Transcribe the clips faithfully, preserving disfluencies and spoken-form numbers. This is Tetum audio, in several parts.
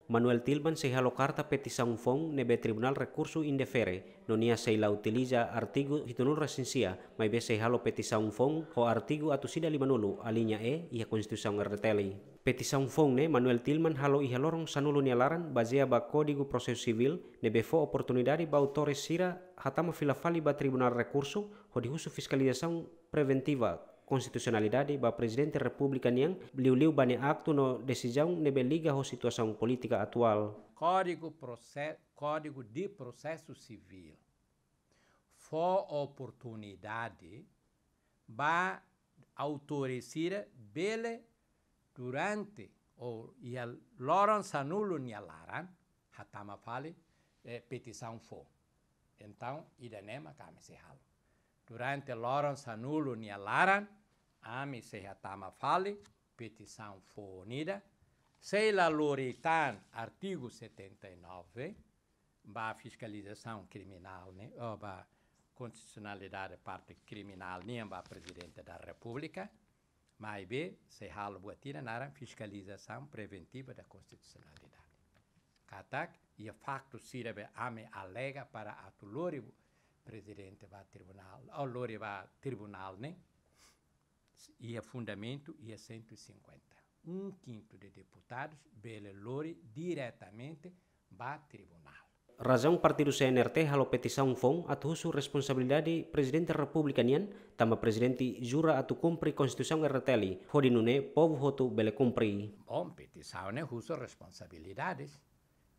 Manuel Tilman sei halo karta petisaun foun ne'ebé Tribunál Rekursu indefere, no nia sei la utiliza artigu hitunulu resin sia, maibé sei halo petisaun foun ho artigu atus ida limanulu, alínea E, iha Konstituisaun R D T L. Petisaun foun ne'e Manuel Tilman halo iha loron sanulu nia laran, bazeia ba Kódigu Prosesu Sivíl, ne'ebé fó oportunidade ba autores sira hatama fila fali ba Tribunál Rekursu, hodi husu fiskalizasaun preventiva konstitusionalidade ba Prezidente Repúblika nian, liuliu ba nia aktu no desizaun ne'ebé liga ho situasaun polítika atuál. Kódigu Prose-, Kódigu de Prosesu Sivíl fó oportunidade ba autores sira bele durante ou iha loron sanulu nia laran hatama fali, eh, petisaun foun. Entaun, ida-ne'e mak ami sei halo. Durante loron sanulu nia laran, ami sei hatama fali petisaun foun ida, sei la lori tan artigu setenta e nove, ba fiskalizasaun kriminál ne'e, ou ba konstitusionalidade parte kriminál nian ba Prezidente da Repúblika, maibé sei halo buat ida naran fiskalizasaun preventiva da konstitusionalidade. Katak, iha faktu sira be ami alega para atu lori Prezidente ba tribunál, ou lori ba tribunál ne'e, iha fundamentu iha cento e cinquenta. Um quinto de deputados bele lori diretamente ba tribunál. Razaun partidu C N R T halo petisaun foun atu husu responsabilidade Prezidente Repúblika nian, tanba Prezidente jura atu kumpre Konstituisaun R T L, hodi nune'e povu hotu bele kumpre. Bom, petisaun ne'e husu responsabilidades.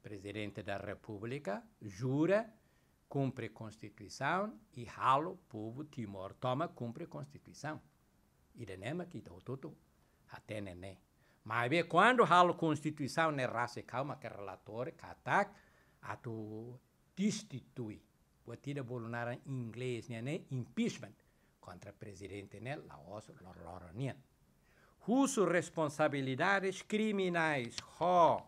Prezidente da Repúblika jura kumpre Konstituisaun i halo povu Timor tomak kumpre Konstituisaun. Ida-ne'e mak ita hotu-hotu hatene ne'e. Maibé kuandu halo Konstituisaun ne'e rasik ha'u mak relatóriu katak atu destitui. Buat ida bolu naran inglés nian ne'e impeachment kontra prezidente ne'e la'ós loroloron nian. Husu responsabilidades kriminais ho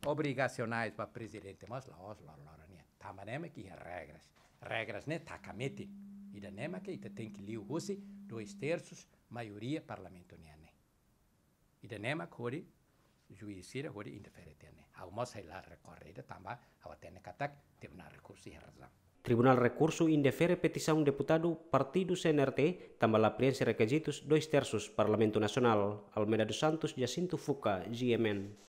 obrigasionais ba prezidente mós la'ós loroloron nian. Tanba ne'e mak iha regras. Regras ne'e taka metin. Ida-ne'e mak ita tenke liu husi dois terços maioria parlamentu nian ne'e. Ida-ne'e mak hodi juís sira hodi indefere tiha ne'e. Ha'u mós sei la rekorre ida tanba ha'u hatene katak Tribunál Rekursu iha razaun. Tribunál Rekursu indefere petisaun deputadu partidu C N R T tanba la preenxe rekizitus dois terços Parlamentu Nasionál. Almeida dos Santos, Jacinto Fuca, G M N.